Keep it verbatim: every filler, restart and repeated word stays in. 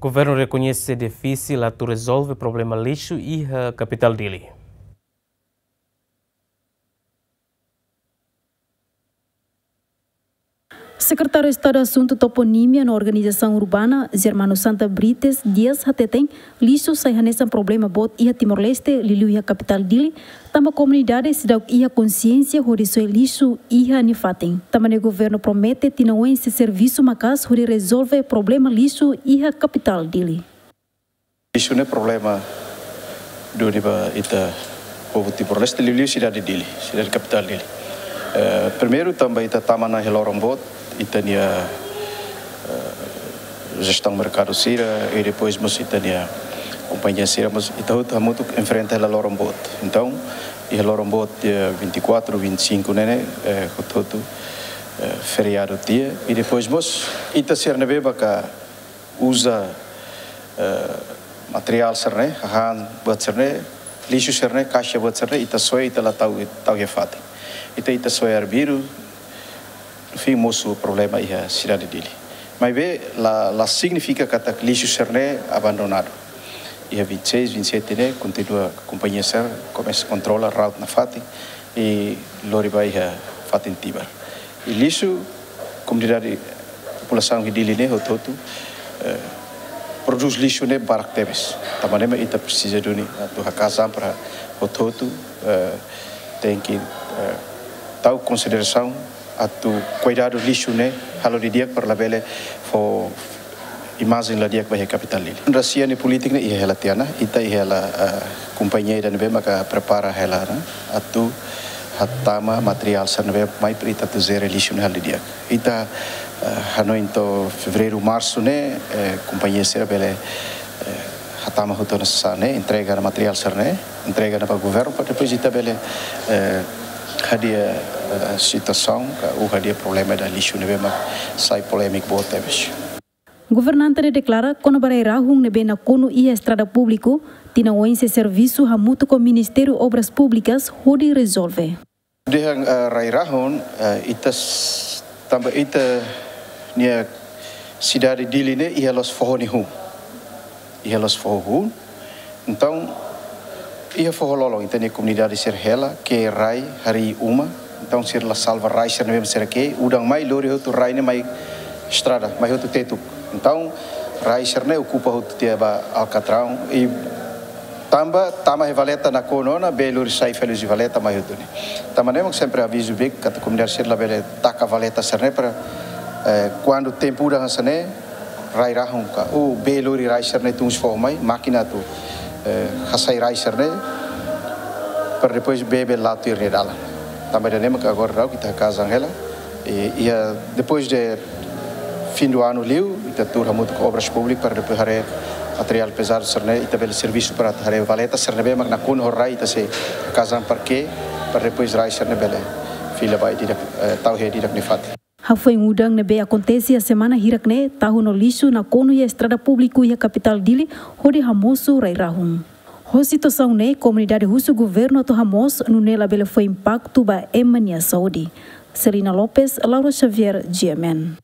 Governu rekoñese defísil atu rezolve problema lixu iha kapitál Dili. Sekretáriu Estadu Asuntu Toponímia no Organizasaun Urbana, Germano Santa Brites Dias hateten, lixu sai hanesan problema boot iha Timor-Leste, liuliu iha kapitál Dili, tanba komunidade seidauk iha konsiénsia hodi soe lixu iha nia fatin. Tanba ne'e governu promete tinan oin sei servisu maka'as hodi rezolve problema lixu iha kapitál Dili. Lixu ne'e problema duni ba ita povu Timor-Leste, liuliu sidade Dili, sidade kapitál Dili. Eh, primeiru, tanba ita tama ona iha loron boot, ita-nia, eh, jestaun merkadu sira, i depois mós ita-nia kompañia sira, mós ita hotu hamutuk enfrenta hela loron boot. Entaun, iha loron boot dia vinte e quatro, vinte e cinco ne'e, eh, hotu-hotu, eh, feriadu tiha, i depois mós ita sira ne'ebé maka uza, eh, materiál sira-ne'e, hahán buat sira-ne'e, lixu sira-ne'e, kaixa buat sira-ne'e, ita soe, ita la tau, tau iha fatin. Ita, ita soe arbiru, no fin mosu problema iha sidade Dili. Maibé la, la signifika katak lixu sira-ne'e abandonadu. Iha vinte e seis, vinte e sete ne'e, kontinua kompañia sira komesa kontrola, rawat nafatin, i lori ba iha fatin Tibar. I lixu, komunidade, populasaun iha Dili ne'e hotu-hotu, eh, prodús lixu ne'e barak tebes. Tanba ne'e mak ita presiza duni atu haka'as an para hotu-hotu, eh, tenke, eh, tau konsiderasaun atu kuidadu lixu ne'e halo didi'ak para labele fó imajen la di'ak ba iha kapitál Dili. Rasia nia polítika ne'e iha hela tiha ona, ita iha hela, eh, kompañia ida ne'ebé maka prepara hela ona atu hatama materiál sira ne'ebé mai para ita atu jere lixu ne'e halo didi'ak. Ita, eh, hanoin to'o fevereiru, marsu ne'e, eh, kompañia sira bele, eh, hatama hotu ona sasán ne'e, entrega ona materiál sira-ne'e, entrega ona ba governu, para depois ita bele, eh, hadi'a, eh, situasaun, ka, ou hadi'a problema ida lixu ne'ebé mak sai polémiku boot tebes. Governante ne'e deklara kona-ba rai-rahun ne'ebé nakonu iha estrada públiku, tinan oin sei servisu hamutuk ho Ministériu Obras Públikas hodi rezolve. Dehan, eh, rai-rahun, eh, ita s-, tanba ita-nia sidade Dili ne'e iha loos foho nia hun. Iha loos foho hun. Entaun, iha foho lolon, ita-nia komunidade sira hela, ke'e rai, harii uma. Entaun, sira la salva rai sira ne'ebé sira ke'e, udan mai lori hotu rai ne'e mai estrada, mai hotu tetuk. Entaun, rai sira-ne'e okupa hotu tiha ba alkatraun, i tanba tama iha valeta nakonu ona, bee lori sai fali husi valeta mai hotu ne'e. Tanba ne'e mak sempre avizu bek katak komunidade sira labele taka valeta sira-ne'e para, eh, kuandu tempu udan hanesan ne'e, rai-rahun ka, ou bee lori rai sira-ne'e tun husi foho mai, mákina atu, eh, hasai rai sira-ne'e, para depois bee bele la'o tuir nia dalan. Tanba ida-ne'e mak agora daudaun ita haka'as an hela, i, iha depois de fim do ano liu, ita tuur hamutuk ho Obras Públikas para depois haree materiál pezadu sira-ne'e, ita bele servisu para haree valeta sira ne'ebé mak nakonu ho rai, ita sei haka'as an para ke'e, para depois rai sira-ne'e bele fila ba di'ak, eh, tau iha di'ak nia fatin. Hafoin udan ne'ebé akontese iha semana hirak ne'e, tahun no lixu nakonu iha estrada públiku iha kapitál Dili, hodi hamosu rai-rahun. Ho situasaun ne'e, komunidade husu governu atu hamoos, nune'e labele fó impaktu ba ema nia saúde. Selina Lopes, Laura Xavier, G M N.